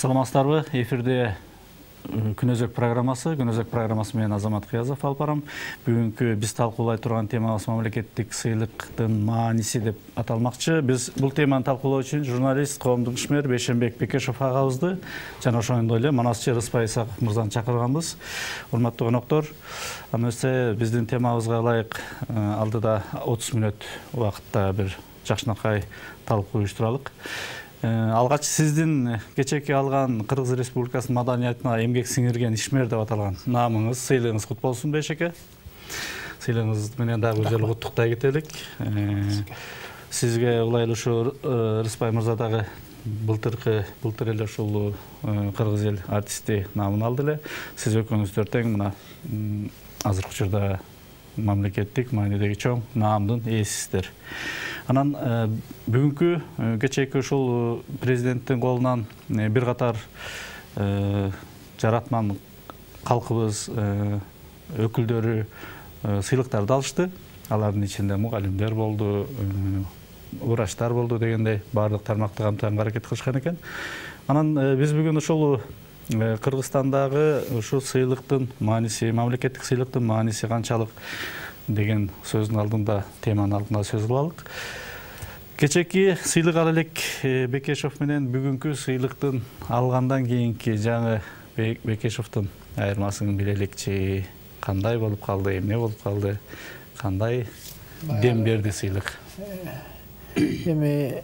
Саламатсыздарбы? Эфирде Күнөзөк программасы менен Азамат Кыязов алып барам. Бүгүнкү биз талкуулай турган темабыз мамлекеттик сыйлыктын мааниси деп аталмакчы. Биз бул теманы талкуулоо үчүн журналист, коомдук ишмер Бейшенбек Бекешов агабызды жана ошондой эле Манасчы Рыспай Исаков мырзаны чакырганбыз. Урматтуу коноктор, эмесе биздин темабызга ылайык алдыда 30 мүнөт убакытта бир жакшынакай талкуу уюштуралык. Алгач сиздин кечээки алган Кыргыз Республикасынын маданиятына эмгек сиңирген ишмер деп аталган наамыңыз, сыйлыгыңыз кут болсун Бейшеке. Сыйлыгыңыз менен дагы жолу куттуктай кетелик. Сизге улай эле ушу Рыспай мырза дагы былтыр эле ушул кыргыз эл артисти наамын алды эле. Сиз экөөңүздөр тең мына азыркы учурда мамлекеттик маанидеги чоң наамдын ээсисиздер. Анан бүгүнкү кечээки ушул президенттин колунан бир катар жаратман калкыбыз өкүлдөрү сыйлыктарды алышты. Алардын ичинде мугалимдер болду, врачтар болду дегендей баардык тармакты камтыганга аракет кылышкан экен. Анан биз бүгүн ушул Кыргызстандагы ушу сыйлыктын мааниси, мамлекеттик сыйлыктын мааниси канчалык деген сөздүн алдында, теманын алдында сөз кылалык. Кечээки сыйлык ала элек Бекешов менен бүгүнкү сыйлыктын алгандан кийинки жаңы Бекешовдун айырмасын билеликчи. Кандай болуп калды, эмне болуп калды, кандай дем берди сыйлык? Эми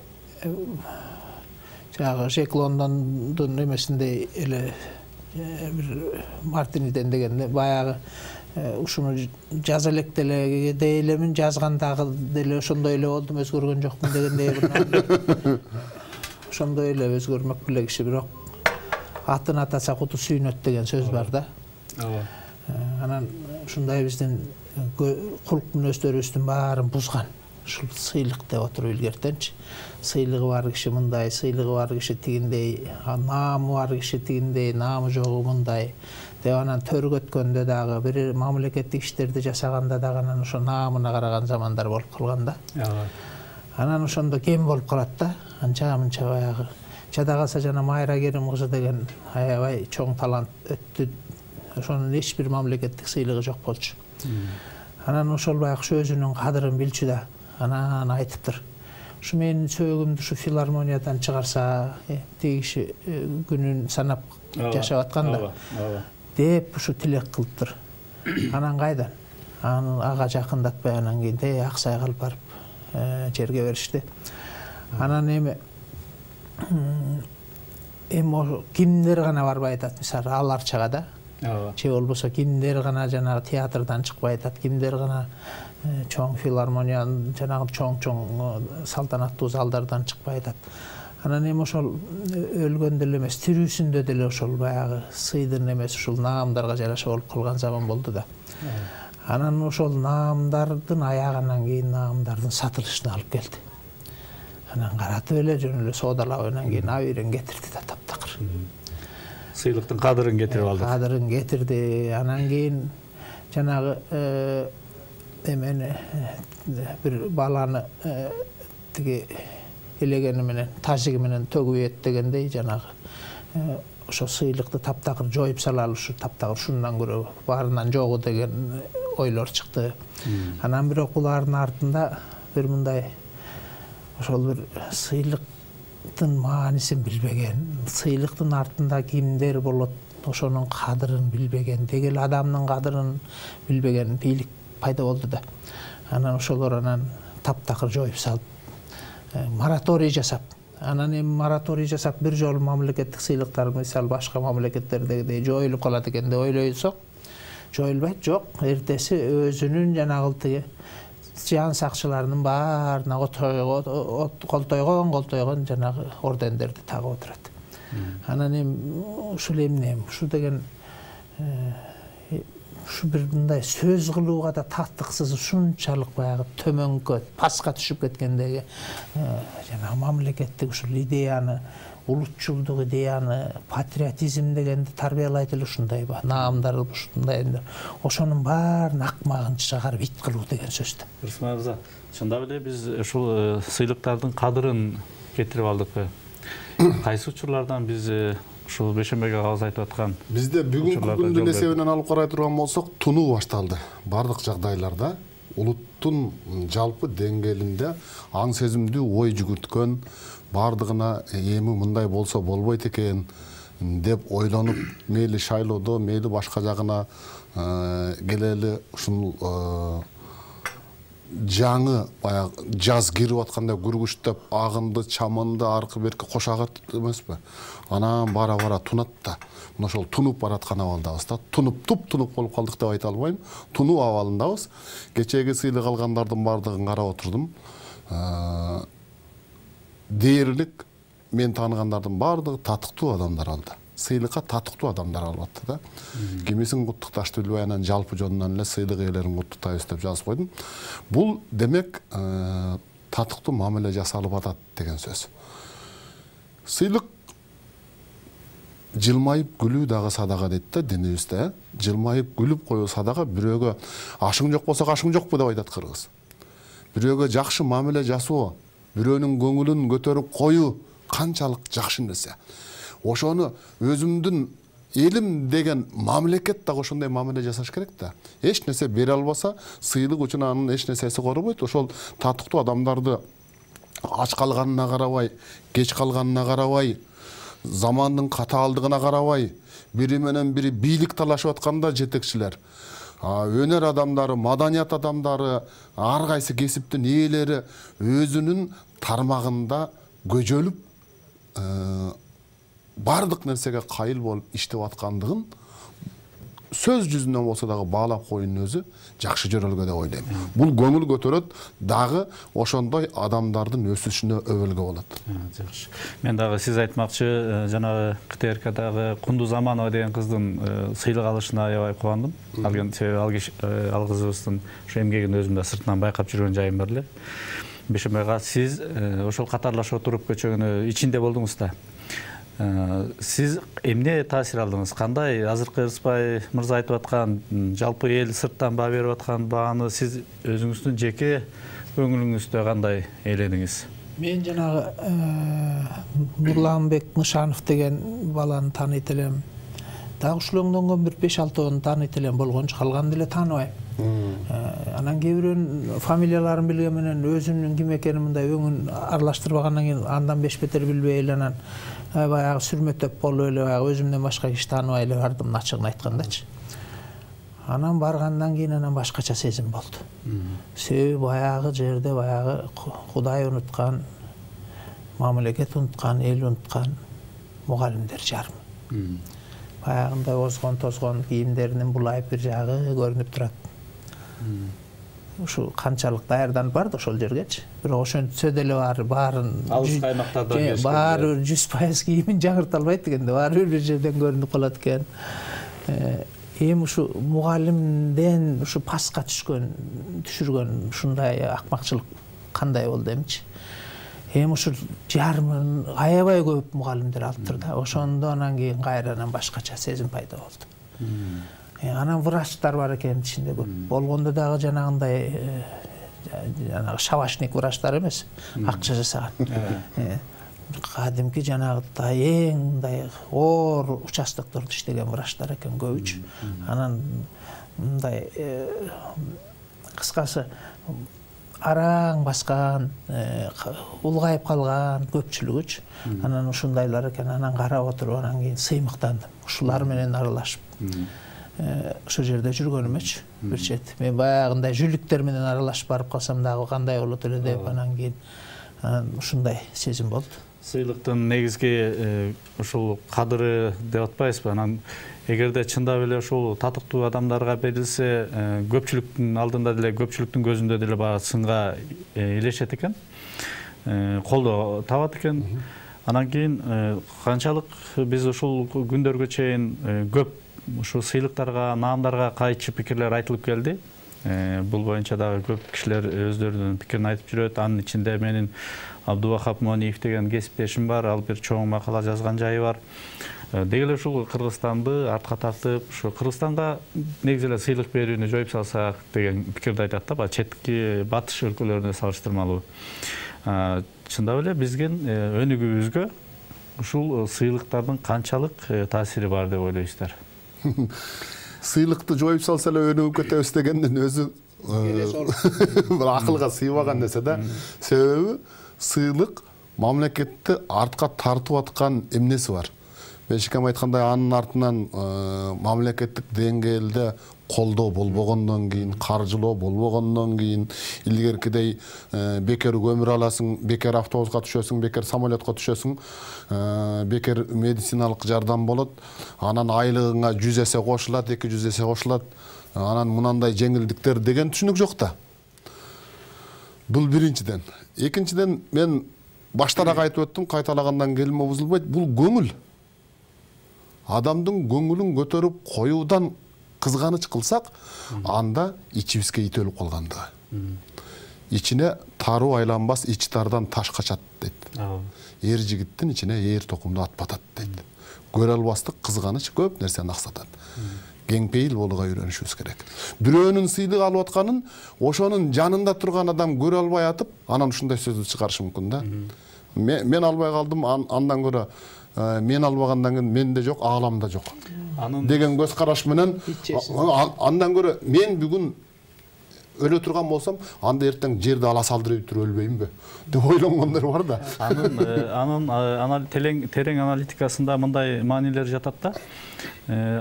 жаңы Жек Лондондун эмесинде эле бир Мартиниден дегенде баягы ушуну жаза элек деле дейлемин, жазгандагы деле ошондой эле болдум, өзгөргөн жокмун дегендей ошондой эле өзгөрмөк беле киши, бирок атын атаса куту сүйүнөт деген сөз бар да. Анан ушундай биздин кулк мүнөздөрүбүздүн баарын бузган ушул сыйлык деп отуруп илгертенчи. Сыйлыгы бар киши мындай, сыйлыгы бар киши тигиндей, наамы бар киши тигиндей, наамы жогу мындай деп анан төргөткөндө дагы бир мамлекеттик иштерди жасаганда дагы анан ошо наамына караган замандар болуп калган да. Анан ошондо кем болуп калат да. Анча мынча баягы жада калса жана Майра Керим кызы деген аябай чоң талант өттү. Ошонун эч бир мамлекеттик сыйлыгы жок болчу. Анан ошол баягы өзүнүн кадырын билчү да. Анан айтыптыр. Ушу менин сөөгүмдү ушу филармониядан чыгарса, тиги киши күнүн санап жашап атканда деп ушу тилек кылыптыр. Анан кайдан? Ага жакындатпай анан кийин Аксайга алып барып жерге беришти. Анан эми кимдер гана барбай атат, мисалы аларчага да. Же болбосо кимдер гана жанагы театрдан чыкпай атат, кимдер гана чоң филармониянын жанагы чоң салтанаттуу залдардан чыкпай атат. Анан эми ошол өлгөндө эле эмес, тирүүсүндө деле ошол баягы сыйдын эмес ушул наамдарга жараша болуп калган заман болду да. Анан ошол наамдардын аягынан кийин наамдардын сатылышына алып келди. Анан каратып эле жөн эле соодалап анан кийин абийирин кетирди да таптакыр. Сыйлыктын кадырын кетирип алды. Кадырын кетирди. Анан кийин жанагы эмени бир баланы тиги элегени менен, тажиги менен төгүп дегендей жанагы ошо сыйлыкты таптакыр жоюп салалы, ушу таптакыр ушундан көрө баарынан жогу деген ойлор чыкты. Анан бирок булардын артында бир мындай ошол бир сыйлыктын маанисин билбеген, сыйлыктын артында кимдер болот, ошонун кадырын билбеген, дегел адамдын кадырын билбеген бийлик пайда болду да. Анан ошолор анан таптакыр жоюп салып, мораторий жасап, анан эми мораторий жасап бир жолу мамлекеттик сыйлыктар мисалы башка мамлекеттердегидей жоюлуп калат экен деп ойлойсок, жоюлбайт, жок. Эртеси өзүнүн жанагы тиги жан сакчыларынын баарына колтойгон жанагы ордендерди тагып отурат. Анан эми ушул эмне? Ушу деген ушу бир мындай сөз кылууга да таттыксыз, ушунчалык баягы төмөнкө, паска түшүп кеткендеги жанагы мамлекеттик ушул идеяны, улутчулдук идеяны, патриотизм дегенди тарбиялайт эле ушундай наамдар, ушундай ошонун баарын акмагын чыгарып ит кылуу деген сөз да. Рысмай мырза, чындап эле биз ушул сыйлыктардын кадырын кетирип алдыкпы? Кайсы учурлардан биз ушул Бейшембек агабыз айтып аткан бизде бүгүнкү күндүн эсебинен алып карай турган болсок, тунуу башталды. Бардык жагдайларда улуттун жалпы деңгээлинде аң сезимдүү ой жүгүрткөн, бардыгына эми мындай болсо болбойт экен деп ойлонуп, мейли шайлоодо, мейли башка жагына келели ушул жаңы баягы жаз кирип атканда күргүчтөп, агынды, чаманды аркы берки кошагат эмеспи? Анан бара тунат да. Мына ошол тунуп бараткан абалдабыз да. Туп-тунуп болуп калдык деп айта албайм. Тунуу абалындабыз. Кечеги сыйлык алгандардын бардыгын карап отурдум. Дээрлик мен тааныгандардын бардыгы татыктуу адамдар алды. Сыйлыкка татыктуу адамдар алып атты да. Кимисин куттукташты билбей, анан жалпы жонунан эле сыйлык ээлерин куттуктайбыз деп жазып койдум. Бул демек татыктуу мамиле жасалып атат деген сөз. Сыйлык жылмайып күлүү дагы садага дейт да динибизде. Жылмайып күлүп коюу садага. Бирөөгө ашың жок болсо ашың жокпу деп айтат кыргыз. Бирөөгө жакшы мамиле жасоо, бирөөнүн көңүлүн көтөрүп коюу канчалык жакшы нерсе. Ошону өзүмдүн элим деген мамлекет дагы ошондой мамиле жасаш керек да. Эч нерсе бере албаса, сыйлык үчүн анын эч нерсеси корбойт. Ошол татыктуу адамдарды ач калганына карабай, кеч калганына карабай, замандын катаалдыгына карабай, бири менен бири бийлик талашып атканда жетекчилер, өнөр адамдары, маданият адамдары, ар кайсы кесиптин ээлери өзүнүн тармагында көжөлүп бардык нерсеге кайыл болуп иштеп аткандыгын сөз жүзүнөн болсо дагы баалап коюунун өзү жакшы жөрөлгө деп ойлойм. Бул көңүл көтөрөт, дагы ошондой адамдардын өсүшүнө өбөлгө болот. Жакшы. Мен дагы сиз айтмакчы, жанагы КТРКдагы Кунду Заманова деген кыздын сыйлык алышына аябай кубандым. Себеби ал кызыбыздын ошо эмгегин өзүм да сыртынан байкап жүргөн жайым бар эле. Бейшембек ага, сиз ошол катарлаш отуруп көчөгөнү ичинде болдуңуз да. Сиз эмне таасир алдыңыз? Кандай азыркы Ырысбай мырза айтып аткан жалпы эл сырттан баа берип аткан бааны сиз өзүңүздүн жеке көңүлүңүздө кандай ээледиңиз? Мен жанагы Нурламбек Нышанов деген баланы тааныйт элем. Дагы ушул оңдонгон бир 5-6 тааныйт элем, болгончу калганды эле тааныбайм. Анан кээ бирөөнүн фамилияларын билген менен өзүмдүн ким экенин мындай өңүн аралаштырбагандан кийин андан беш бетер билбей эле анан баягы сүрмөтөп болуп эле баягы өзүмдөн башка киши тааныбай эле бардым, ачыгын айткандачы. Анан баргандан кийин анан башкача сезим болду. Себеби баягы жерде баягы Кудай унуткан, мамлекет унуткан, эл унуткан мугалимдер жарым. Баягындай озгон тозгон кийимдеринин булайып бир жагы көрүнүп турат. Ушу канчалык даярданып барды ошол жергечи. Бирок ошентсе деле баарын алыс каймактардан баары 100% кийимин жаңырта албайт дегенде, баары бир жерден көрүнүп калат экен. Эми ушу мугалимден ушу паска түшүргөн ушундай акмакчылык кандай болду эмчи? Эми ушул жарымын аябай көп мугалимдер алыптыр да. Ошондо анан кийин кайрадан башкача сезим пайда болду. Анан врачтар бар экен ичинде көп. Болгондо дагы жанагындай шабашник врачтар эмес, акча жасаган. Кадимки жанагы эң мындай оор участоктордо иштеген врачтар экен көбүчү. Анан мындай кыскасы араң баскан, улгайып калган көпчүлүгүчү. Анан ушундайлар экен, анан карап отуруп анан кийин сыймыктандым. Ушулар менен аралашып ошол жерде жүргөнүмөчү бир чет. Мен баягындай жүлүктөр менен аралашып барып калсам дагы кандай болот эле деп анан кийин ушундай сезим болду. Сыйлыктын негизги ушул кадыры деп атпайсызбы? Анан эгерде чындап эле ушул татыктуу адамдарга берилсе, көпчүлүктүн алдында деле, көпчүлүктүн көзүндө деле баягы сынга илешет экен, колдоо табат экен. Анан кийин канчалык биз ушул күндөргө чейин көп ушул сыйлыктарга, наамдарга кайчы пикирлер айтылып келди. Бул боюнча дагы көп кишилер өздөрүнүн пикирин айтып жүрөт. Анын ичинде менин Абдубахап Мониев деген кесиптешим бар, ал бир чоң макала жазган жайы бар. Деги эле ушул Кыргызстанды артка тартып, ушу Кыргызстанга негизи эле сыйлык берүүнү жоюп салсак деген пикирди айтат да, четки батыш өлкөлөрүнө салыштырмалуу. Чындап эле биздин өнүгүүбүзгө ушул сыйлыктардын канчалык таасири бар деп ойлойсуздар? Сыйлыкты жоюп салса эле өнүгүп кетебиз дегендин өзү бир акылга сыйбаган нерсе да. Себеби сыйлык мамлекетти артка тартып аткан эмнеси бар. Бешикем айткандай, анын артынан мамлекеттик деңгээлде колдоо болбогондон кийин, каржылоо болбогондон кийин, илгеркидей бекер көмүр аласың, бекер автобуска түшөсүң, бекер самолетко түшөсүң, бекер медициналык жардам болот, анан айлыгыңа 100 эсе кошулат, 200 эсе кошулат, анан мынандай жеңилдиктер деген түшүнүк жок да. Бул биринчиден. Экинчиден, мен баштараак айтып өттүм, кайталагандан келме бузулбайт. Бул көңүл. Адамдын көңүлүн көтөрүп коюудан кызганыч кылсак, анда ичибизге ит өлүп калгандыгы. Ичине таруу айланбас, ич тардан таш качат дейт. Эр жигиттин ичине ээр токумду ат батат дейт. Көрө албастык, кызганыч көп нерсени аксатат. Кеңпейил болууга үйрөнүшүбүз керек. Бирөөнүн сыйлык алып атканын ошонун жанында турган адам көрө албай атып, анан ушундай сөздү чыгарышы мүмкүн да. Мен албай калдым, андан көрө мен албагандан кийин менде жок, ааламда жок деген көз караш менен, андан көрө мен бүгүн өлө турган болсом, анда эртең жерди ала салдырып туруп өлбөймүнбү деп ойлонгондор бар да. Анын терең аналитикасында мындай маанилер жатат да.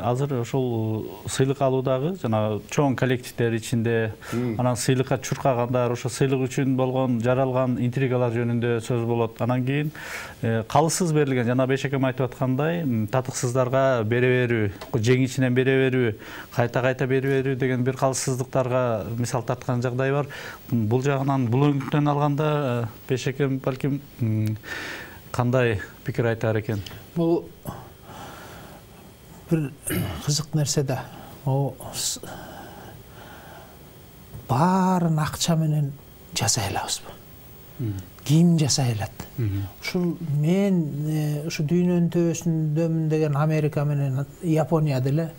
Азыр ошол сыйлык алуудагы жана чоң коллективдер ичинде, анан сыйлыкка чуркагандар, ошо сыйлык үчүн болгон жаралган интригалар жөнүндө сөз болот. Анан кийин калысыз берилген, жана Бешекем айтып аткандай, татыксыздарга бере берүү, жеңичинен бере берүү, кайта бере берүү деген бир калыссыздыктарга мисал тарткан жагдай бар. Бул жагынан, бул өңүттөн алганда Бешекем балким кандай пикир айтар экен? Бул bir kızık nerse de o barın akça menen jasayalabız bu. Kiyim jasaylat. Uşul men şu düýnөнүн töbөsүndömүn degen Amerika menen Yaponiya dele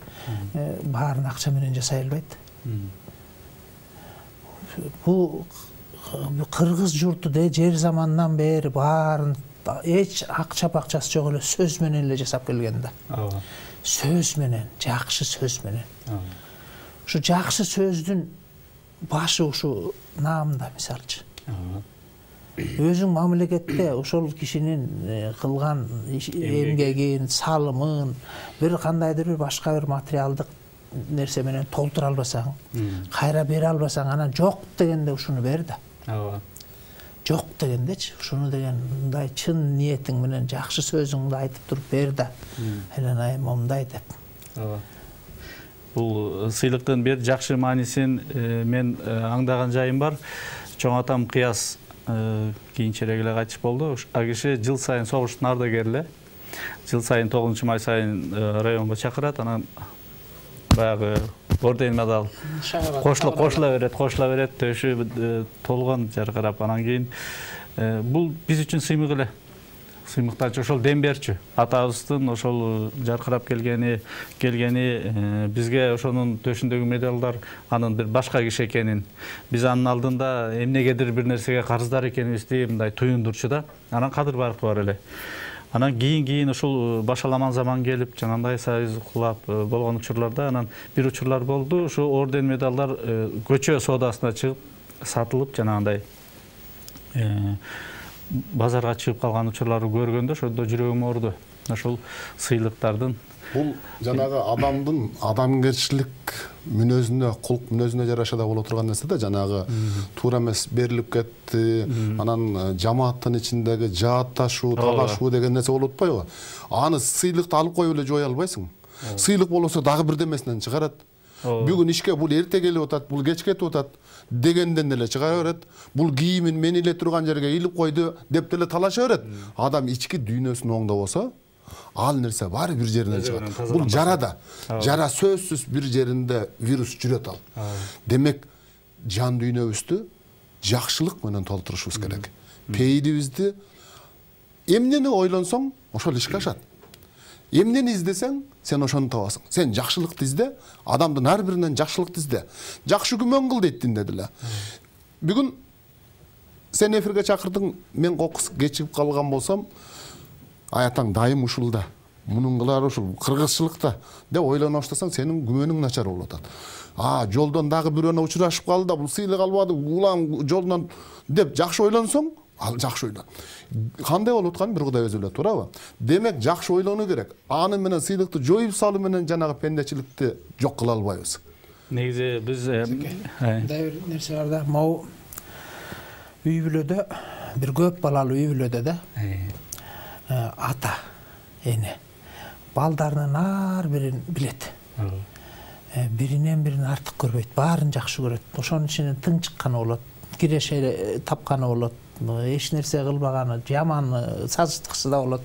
barın akça menen jasayalbayt. Bu Kırgız jurtu de jer zamandan beri barın hiç akça pakçası jok ele söz menen ele jasap kelgen da. Söz menen, jakşı söz menen. Şu jakşı sözdün başı uşu namda misalçı. Özüň mamleketde ошол kişinin kılgan emgegin, salımın, bir kandaydır bir başka bir materialdık nerse menen toltura albasaň, kayra bere albasaň, ana jok degende uşunu ber da. Jok degendeçi, uşunu degen mындай çyn niyetiň menen jakşı sözüňdi aytyp turup ber da. Helena momday dep. Бул сыйлыктын бир жакшы маанисин мен аңдаган жайым бар. Чоң атам Кыяс кийинчерээк эле кайтыш болду. А киши жыл сайын согуштун ардагери, жыл сайын 9-май сайын районго чакырат, анан баягы орден медал кошула берет, төшү толгон жаркырап, анан кийин бул биз үчүн сыймык эле. Сыймыктанчы ошол дем берчү. Атабыздын ошол жаркырап келгени бизге ошонун төшүндөгү медалдар анын бир башка киши экенин, биз анын алдында эмнегедир бир нерсеге карыздар экенибизди мындай туюндурчу да. Анан кадыр баркы бар эле. Анан кийин ушул башаламан заман келип, жанагындай союз кулап болгон учурларда анан бир учурлар болду. Ушу орден медалдар көчө соодасына чыгып сатылып, жанагындай базарга чыгып калган учурларды көргөндө ошондо жүрөгүм ооруду. Ошол сыйлыктардын бул жанагы адамдын адамгерчилик мүнөзүнө, кулк мүнөзүнө жараша да боло турган нерсе да, жанагы туура эмес берилип кетти, анан жамааттын ичиндеги жаатташуу, талашуу деген нерсе болуп атпайбы? Аны сыйлыкты алып коюп эле жое албайсың. Сыйлык болсо дагы бирдемесинен чыгарат. Бүгүн ишке бул эрте келип атат, бул кеч кетип атат дегенден эле чыгара берет. Бул кийимин мен эле турган жерге илип койду деп деле талаша берет. Адам ички дүйнөсүн оңдо болсо, ал нерсе баары бир жеринен чыгат. Бул жарада. Жара сөзсүз бир жеринде вирус жүрөт ал. Демек, жан дүйнөбүздү жакшылык менен толтурушубуз керек. Пейилибизди эмнени ойлонсоң, ошол ишке ашат. Эмнени издесең, сен ошону табасың. Сен жакшылыкты изде, адамдын ар биринен жакшылыкты изде. Жакшы күмөн кыл дейт динде деле. Бүгүн сен эфирге чакырдың, мен кокус кечигип калган болсом, аятаң дайым ушулда, мунун кылары ушул, кыргызчылыкта деп ойлоно баштасаң, сенин күмөнүң начар болуп атат. Жолдон дагы бирөөнө учурашып калды да, бул сыйлык албады, улам жолунан деп жакшы ойлонсоң, ал жакшы ойлон. Кандай болуп атканын бир Кудай өзү билет, туурабы? Демек жакшы ойлонуу керек. Аны менен сыйлыкты жоюп салуу менен жанагы пендечиликти жок кыла албайбыз. Негизи биз мындай бир нерсе бар да, могу үй бүлөдө, бир көп балалуу үй бүлөдө да, ата, эне балдарынын ар бирин билет. Биринен бирин артык көрбөйт, баарын жакшы көрөт. Ошонун ичинен тың чыкканы болот, киреше тапканы болот, эч нерсе кылбаганы, жаманы, сазыштыксы да болот.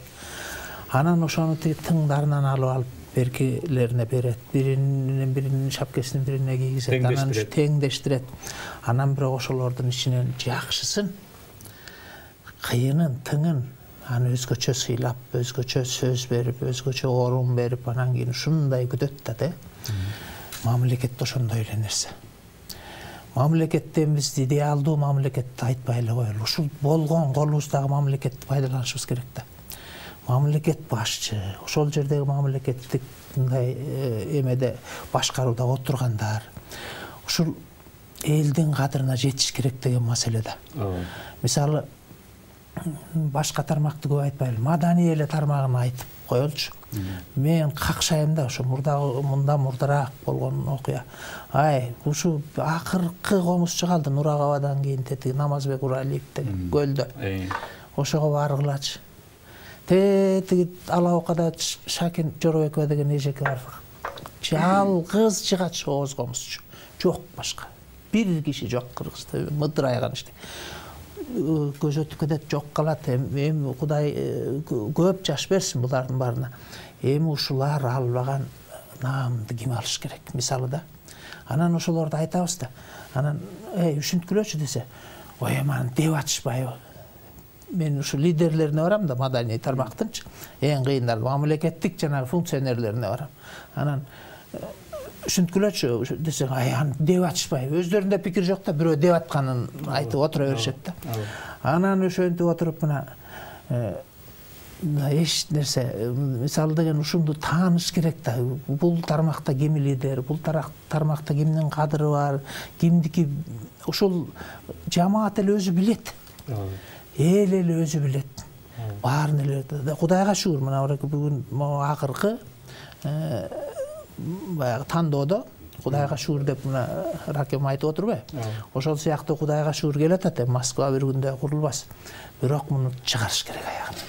Анан ошону тиги тыңдарынан алып беркелерине берет, биринен биринин шапкесин бирине кийгизет, анан теңдештирет. Анан бирок ошолордун ичинен жакшысын, кыйынын, тыңын аны өзгөчө сыйлап, өзгөчө сөз берип, өзгөчө орун берип, анан кийин ушундай күтөт да, мамлекет ошондой эле нерсе. Мамлекеттен биз идеалдуу мамлекетти айтпай эле коелу. Ушул болгон колубуздагы мамлекетти пайдаланышыбыз керек да. Мамлекет башчы, ошол жердеги мамлекеттик мындай эмеде башкарууда отургандар ушул элдин кадырына жетиш керек деген маселе да. Мисалы, башка тармакты көп айтпайлы, маданий эле тармагын айтып коелучу. Мен какшайм да, ошо мурдараак болгон окуя. Ушу акыркы комузчу калды Нурагабадан кийин тетиги Намазбек Уралиев деген көлдө. Ошого баргылачы. Тетиги Алаокада Шакин Жоробекова деген эжеке бар. Жалгыз жыгач ооз комузчу. Жок башка. Бир киши жок Кыргызда, мыдырайган иште. Көз өтүп кетет, жок калат. Эми Кудай көп жаш берсин булардын баарына. Эми ушулар албаган наамды ким алыш керек, мисалы да. Анан ошолорду айтабыз да. Анан үшүнткүлөчү десе, ой, аман деп атышпайбы? Мен ушу лидерлерине барам да, маданий тармактынчы. Эң кыйындар мамлекеттик жанагы функционерлерине барам. Анан үшүнткүлөчү десең, аны деп атышпайбы? Өздөрүндө пикир жок да, бирөө деп атканын айтып отура беришет да. Анан ошентип отуруп мына эч нерсе, мисалы деген ушунду тааныш керек да. Бул тармакта ким лидер, бул тармакта кимдин кадыры бар, кимдики, ушул жамаат эле өзү билет. Эл эле өзү билет. Баарын эле. Кудайга шүгүр, мына бүгүн акыркы баягы тандоодо Кудайга шүгүр деп мына Ракем айтып отурбайбы? Ошол сыяктуу Кудайга шүгүр келатат, Москва бир күндө курулбас. Бирок муну чыгарыш керек аягына.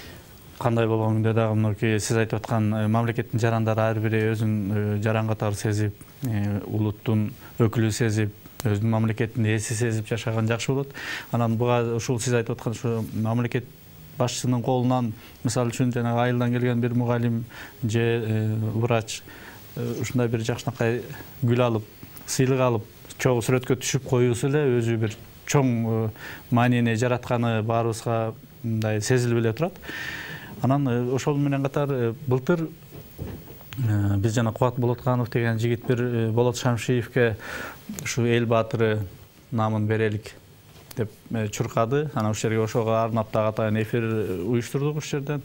Кандай болгон күндө дагы мынакей сиз айтып аткан мамлекеттин жарандары ар бири өзүн жаран катары сезип, улуттун өкүлү сезип, өзүнүн мамлекеттин ээси сезип жашаган жакшы болот. Анан буга ушул сиз айтып аткан ушу мамлекет башчысынын колунан, мисалы үчүн жанагы айылдан келген бир мугалим же врач ушундай бир жакшынакай гүл алып, сыйлык алып, чогуу сүрөткө түшүп коюусу эле өзү бир чоң маанини жаратканы баарыбызга мындай сезилип эле турат. Анан ошол менен катар былтыр биз жана Кубат Болотканов деген жигит бир Болот Шамшиевке ушу эл баатыры наамын берелик деп чуркады. Анан ушул жерге ошого арнап дагы атайын эфир уюштурдук ушул жерден.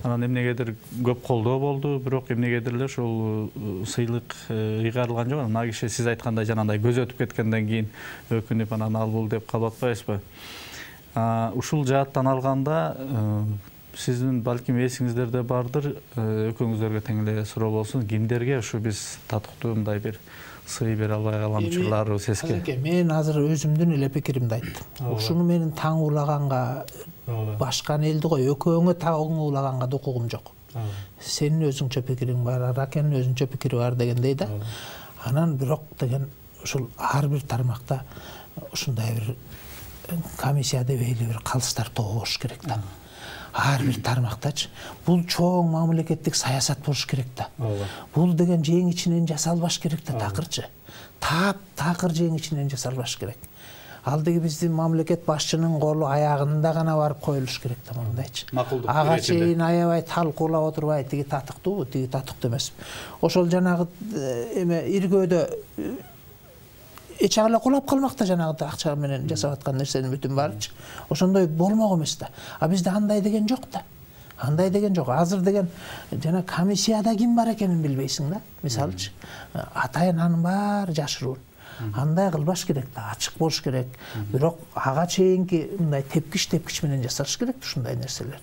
Анан эмнегедир көп колдоо болду, бирок эмнегедир эле ушул сыйлык ыйгарылган жок. Ана киши сиз айткандай жанагындай көз өтүп кеткенден кийин өкүнүп анан ал бул деп калып атпайбызбы? Ушул жааттан алганда сиздин балким эсиңиздерде бардыр, экөөңүздөргө тең эле суроо болсун, кимдерге ушу биз татыктуу мындай бир сый бере албай калган учурларыбыз эске? Мен азыр өзүмдүн эле пикиримди айттым. Ушуну менин таң уулаганга, башка элди кой, экөөңө таң уулаганга да укугум жок. Сенин өзүңчө пикириң бар, Ракенин өзүнчө пикири бар дегендей да. Анан бирок деген ушул ар бир тармакта ушундай бир комиссия дебейли бир калыстар тобу болуш керек да. Ар бир тармактачы. Бул чоң мамлекеттик саясат болуш керек да. Бул деген жең ичинен жасалбаш керек да, такырчы. Такыр жең ичинен жасалбаш керек. Ал деги биздин мамлекет башчынын колу аягында гана барып коюлуш керек да, мындайчы. Ага чейин аябай талкуулап отурбай, тиги татыктуубу, тиги татыктуу эмеспи. Ошол жанагы эме иргөөдө эч ала кулап калмак да, жанагы акча менен жасап аткан нерсенин бүтүн баарычы. Ошондой болмок эмес да. Бизде андай деген жок да. Андай деген жок. Азыр деген жана комиссияда ким бар экенин билбейсиң да. Мисалычы, атайын анын баары жашыруу. Андай кылбаш керек да, ачык болуш керек. Бирок ага чейинки мындай тепкич менен жасаш керек ушундай нерселер.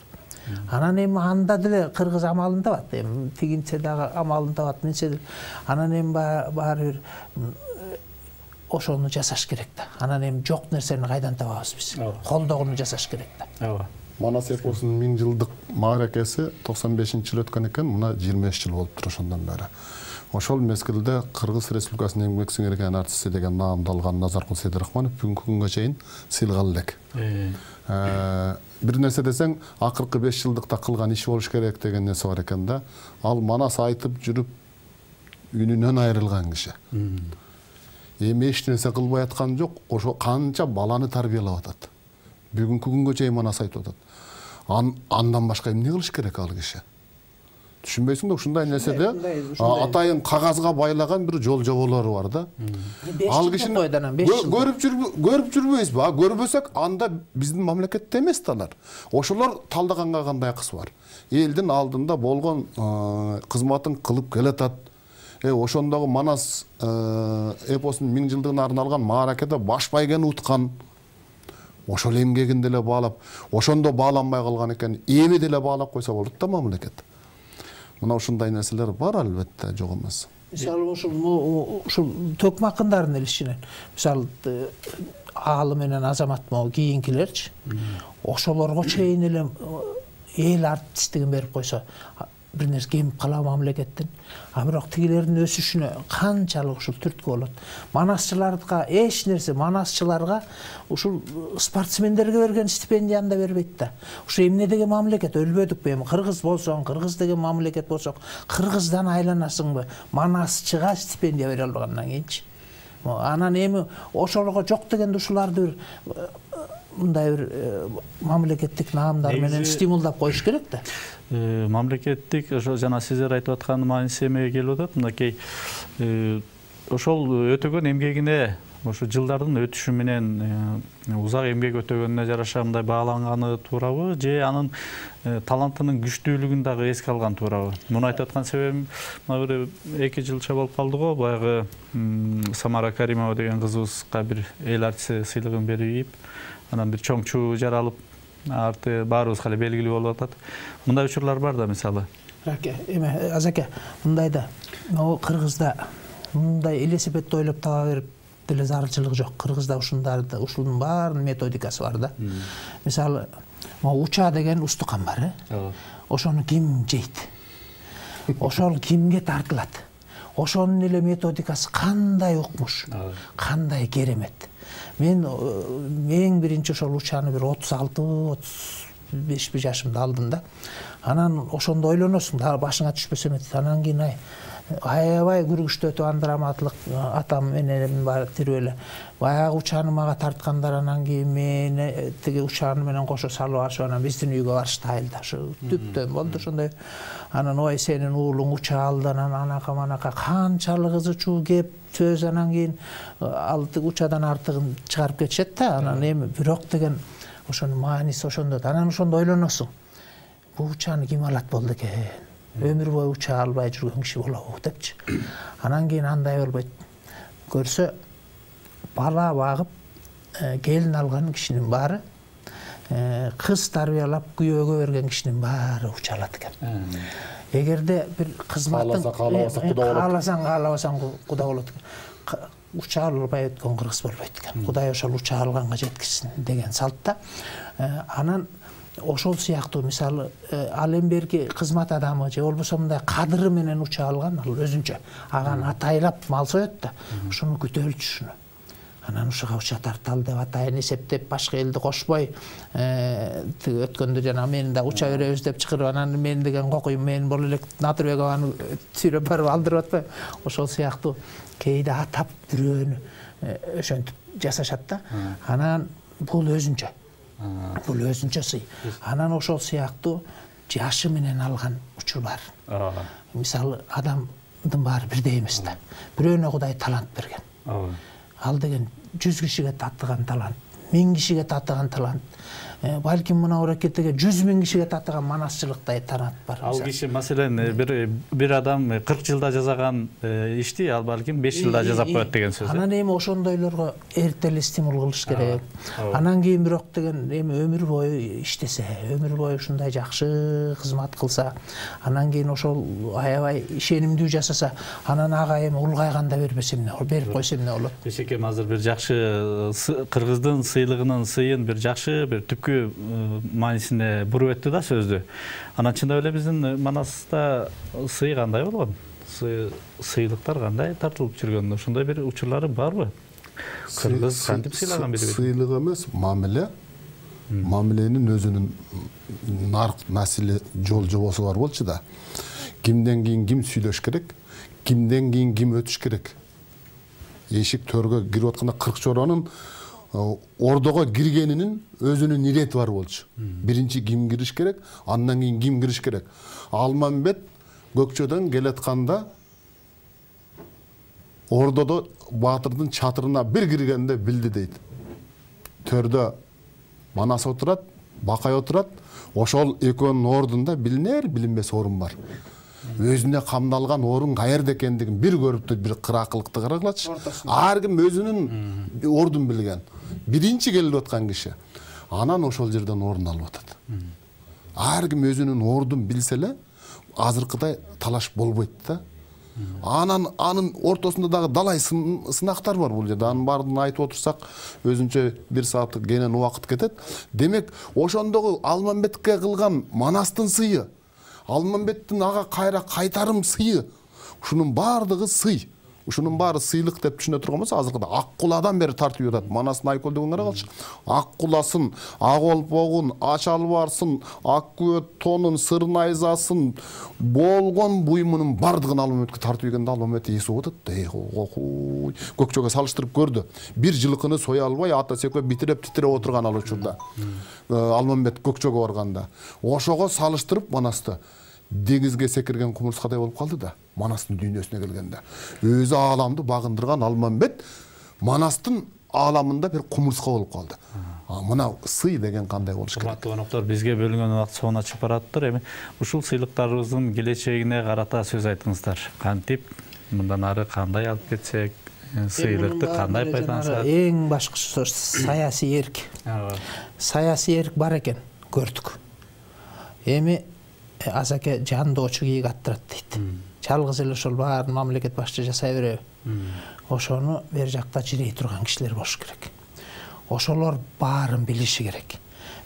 Анан эми анда деле кыргыз амалын табат. Эми тигинче дагы амалын табат. Менче анан эми баары бир ошону жасаш керек да. Анан эми жок нерсени кайдан табабыз биз? Колдогуну жасаш керек да. Ооба. Манас эпосунун 1000 жылдык мааракеси 95-жыл өткөн экен, мына 25 жыл болуптур ошондон бери. Ошол мезгилде Кыргыз Республикасынын эмгек сиңирген артисти деген наамды алган Назаркул Сейдирахманов бүгүнкү күнгө чейин сыйлгалы элек. Бир нерсе десең, акыркы 5 жылдыкта кылган иш болуш керек деген нерсе бар экен да. Ал манас айтып жүрүп үнүнөн айрылган киши. Эми эч нерсе кылбай аткан жок, ошо канча баланы тарбиялап атат. Бүгүнкү күнгө чейин манас айтып атат. Андан башка эмне кылыш керек ал киши? Түшүнбөйсүң да, ушундай нерседе атайын кагазга байлаган бир жол жоболору бар да. Ал кишини көрүп жүрбөйбүзбү? Көрбөсөк, анда биздин мамлекетте эмес да алар. Ошолор талдаганга кандай акысы бар? Элдин алдында болгон кызматын кылып келатат. Ошондогу Манас эпосунун 1000 жылдыгына арналган мааракеде баш байгени уткан. Ошол эмгегин деле баалап, ошондо бааланбай калган экен, эми деле баалап койсо болот да мамлекет. Мына ушундай нерселер бар албетте, жок эмес. Мисалы ушул төкмө акындардын эле ичинен. Мисалы аалы менен азамат могу кийинкилерчи. Ошолорго чейин эле эл артисттигин берип койсо, бир нерсе кемип калабы мамлекеттин. Бирок тигилердин өсүшүнө канчалык ушул түрткү болот. Манасчыларга эч нерсе, манасчыларга ушул спортсмендерге берген стипендияны да бербейт да. Ушу эмне деген мамлекет, өлбөдүкпү эми? Кыргыз болсоң, кыргыз деген мамлекет болсок, кыргыздан айланасыңбы? Манасчыга стипендия бере албагандан кийинчи. Анан эми ошолорго жок дегенде ушуларды бир мындай бир мамлекеттик наамдар менен стимулдап коюш керек да. Мамлекеттик ошо жана сиздер айтып аткан мааниси эмеге келип атат. Мынакей ошол өтөгөн эмгегине ошо жылдардын өтүшү менен узак эмгек өтөгөнүнө жараша мындай бааланганы туурабы, же анын талантынын күчтүүлүгүн дагы эске алган туурабы? Муну айтып аткан себебим, мына бир 2 жылча болуп калды го, баягы Самара Каримова деген кызыбызга бир эл артисти сыйлыгын берип, анан бир чоң чуу жаралып, арты баарыбызга эле белгилүү болуп атат. Мындай учурлар бар да, мисалы. Азаке, мындай да, Кыргызда мындай велосипедди ойлоп таба берип деле зарылчылык жок. Кыргызда ушунун баарынын методикасы бар да. Мисалы, уча деген устукан бар, ошону ким жейт? Ошол кимге тартылат? Ошонун эле методикасы кандай укмуш, кандай керемет. Мен эң биринчи ошол учаны бир 36-35 жашымда алдым да. Анан ошондо ойлоносуң, дагы башыңа түшпөсө эметти. Анан кийин аябай күргүчтүү өтүп андраматлык атам менен бар тирүү эле. Баягы учаны мага тарткандар, анан кийин мени тиги учаны менен кошо салып алышып, анан биздин үйгө барышты айылда. Ошо түптөн болду ошондой. Анан ой сенин уулуң уча алды, анан анака манака канчалык ызы чуу кеп сөз, анан кийин ал учадан артыгын чыгарып кетишет да. Анан эми бирок деген ошонун мааниси ошондо. Анан ошондо ойлоносуң. Бул учаны ким алат болду экен? Өмүр бою уча албай жүргөн киши болобу депчи. Анан кийин андай болбойт. Көрсө бала багып, келин алган кишинин баары, кыз тарбиялап күйөөгө берген кишинин баары уча алат экен. Эгерде бир кызматтын кааласаң куда болот экен. Уча албай өткөн кыргыз болбойт экен. Кудай ошол уча алганга жеткизсин деген салтта. Анан ошол сыяктуу мисалы ал эмберки кызмат адамы же болбосо мындай кадыры менен уча алган, ал өзүнчө аган атайлап мал соёт да, ошону күтөлчү ушуну. Анан ушуга уча тарталы деп атайын эсептеп, башка элди кошпой, өткөндө жана мени да уча беребиз деп чакырып, анан мен деген кокуйм, мен боло элек Натырбекованы сүйрөп барып алдырып атпайбы? Ошол сыяктуу кээде атап бирөөнү ошентип жасашат да. Анан бул өзүнчө. Бул өзүнчө сый. Анан ошол сыяктуу жашы менен алган учур бар. Мисалы, адамдын баары бирдей эмес да. Бирөөнө Кудай талант берген. Ал деген 100 кишиге татыган талант, 1000 кишиге татыган талант, балким мына аракетке 100 000 кишиге татыган манасчылыктай таанат бар. Ал киши маселен бир адам 40 жылда жасаган ишти ал балким 5 жылда жасап коет деген сөз. Анан эми ошондойлорго эртели стимул кылыш керек. Анан кийин бирок деген эми өмүр бою иштесе, өмүр бою ушундай жакшы кызмат кылса, анан кийин ошол аябай ишенимдүү жасаса, анан ага эми улгайганда бербесе эмне, берип койсо эмне болот? Бешекем азыр бир жакшы кыргыздын сыйлыгынын сыйын бир жакшы бир түпкү маанисине буруп өттү да сөздү. Анан чындап эле биздин Манаста сый кандай болгон? Сыйлыктар кандай тартылып жүргөн? Ошондой бир учурлары барбы? Кыргыз кантип сыйлаган бири? Сыйлык эмес, мамиле. Мамиленин өзүнүн нарк маселе жол жобосу бар болчу да. Кимден кийин ким сүйлөш керек, кимден кийин ким өтүш керек. Эшик төргө кирип атканда 40 чоронун ордого киргенинин өзүнүн ирети бар болчу. Биринчи ким кириш керек, андан кийин ким кириш керек. Алмамбет Көкчөдөн келатканда ордодо баатырдын чатырына бир киргенде билди дейт. Төрдө Манас отурат, Бакай отурат, ошол экөөнүн ордунда билинер билинбес орун бар. Өзүнө камдалган орун каерде экендигин бир көрүптү, бир кыракылыкты карагылачы. Ар ким өзүнүн ордун билген. Биринчи келип аткан киши. Анан ошол жерден орун алып атат. Ар ким өзүнүн ордун билсе эле азыркыдай талаш болбойт да. Анан анын ортосунда дагы далай сынактар бар бул жерде. Анын баарын айтып отурсак, өзүнчө 1 сааттык кенен убакыт кетет. Демек, ошондогу Алмамбетке кылган Манастын сыйы, Алмамбеттин ага кайра кайтарым сыйы, ушунун баардыгы сый. Ушунун баары сыйлык деп түшүнө турган болсо, азыркыда ак куладан бери тартып жатат. Манастын айкөлдөгүн карагалычы. Ак куласын, ак олпогун, ач албарсын, ак күбөт тонун, сыр найзасын, болгон буйумунун бардыгын Алмамбетке тартып ийгенде Алмамбет эси отот. Көкчөгө салыштырып көрдү. Бир жылкыны соя албай, ата секөө битиреп титиреп отурган ал учурда. Алмамбет Көкчөгө барганда. Ошого салыштырып Манасты деңизге секирген кумурскадай болуп калды да, Манастын дүйнөсүнө келгенде. Өзү ааламды багындырган Алмамбет Манастын ааламында бир кумурска болуп калды. Мына сый деген кандай болуш керек? Урматтуу коноктор, бизге бөлүнгөн убакыт соңуна чыгып бараттыр. Эми ушул сыйлыктарыбыздын келечегине карата сөз айтыңыздар. Кантип мындан ары кандай алып кетсек, сыйлыкты кандай пайдалансак? Эң башкысы саясий эрк. Саясий эрк бар экен, көрдүк. Эми азаке жандоочу кийик аттырат дейт. Жалгыз эле ошол баарын мамлекет башчы жасай береби? Ошону бер жакта жирей турган кишилер болуш керек. Ошолор баарын билиши керек.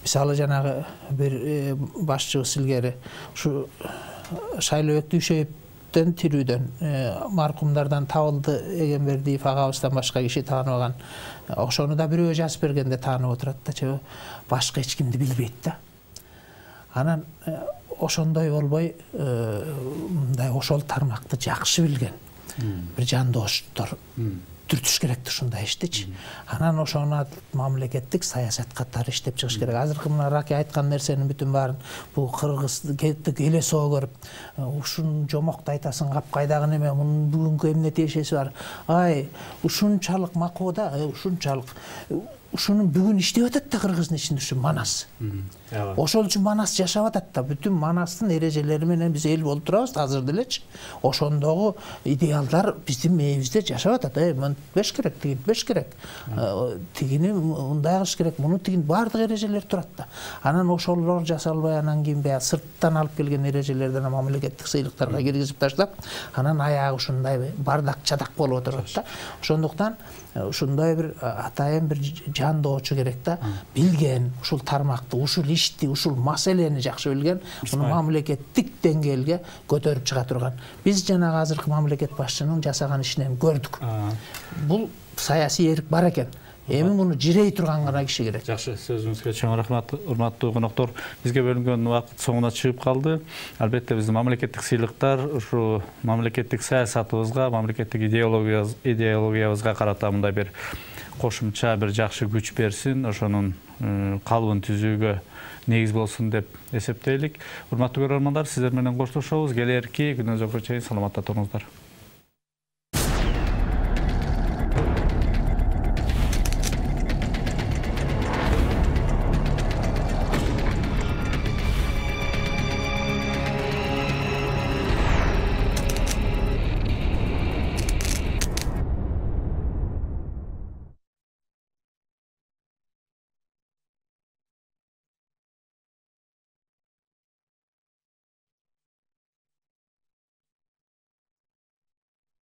Мисалы жанагы бир башчыбыз илгери ушу Шайлообек Дүйшөевдөн тирүүдөн маркумдардан табылды Эгембердиев агабыздан башка киши тааныбаган. Ошону да бирөө жазып бергенде таанып отурат да, башка эч кимди билбейт да. Анан ошондой болбой, мындай ошол тармакты жакшы билген бир жандооштор түртүш керек ушундай иштичи. Анан ошону мамлекеттик саясат катары иштеп чыгыш керек. Азыркы мына Раки айткан нерсенин бүтүн баарын бул кыргыздык эле соо көрүп, ушун жомокто айтасың, капкайдагы неме, мунун бүгүнкү эмне тиешеси бар. Ай, ушунчалык макода, ушунчалык ушунун бүгүн иштеп атат да Кыргыздын ичинде ушу Манас. Ошол үчүн Манас жашап атат да. Бүтүн Манастын эрежелери менен биз эл болуп турабыз азыр делечи. Ошондогу идеалдар биздин мээбизде жашап атат. Мынтпеш керек, тигинтпеш керек. Тигини мындай кылыш керек, муну тигин баардык эрежелер турат да. Анан ошолор жасалбай, анан кийин баягы сырттан алып келген эрежелерден мамлекеттик сыйлыктарга киргизип таштап, анан аягы ушундай бардак чадак болуп отурат да. Ошондуктан ушундай бир атайын бир жандоочу керек да, билген, ушул тармакты, ушул ишти, ушул маселени жакшы билген, муну мамлекеттик деңгээлге көтөрүп чыга турган. Биз жанагы азыркы мамлекет башчынын жасаган ишинен көрдүк. Бул саясий эрк бар экен. Эми муну жирей турган гана киши керек. Жакшы, сөзүңүзгө чоң рахмат, урматтуу коноктор. Бизге бөлүнгөн убакыт соңуна чыгып калды. Албетте биздин мамлекеттик сыйлыктар ушу мамлекеттик саясатыбызга, мамлекеттик идеологиябызга карата мындай бир кошумча бир жакшы күч берсин, ошонун калыбын түзүүгө негиз болсун деп эсептейлик. Урматтуу көрөрмандар, сиздер менен коштошобуз. Келерки күнүңүзгө чейин саламатта туруңуздар.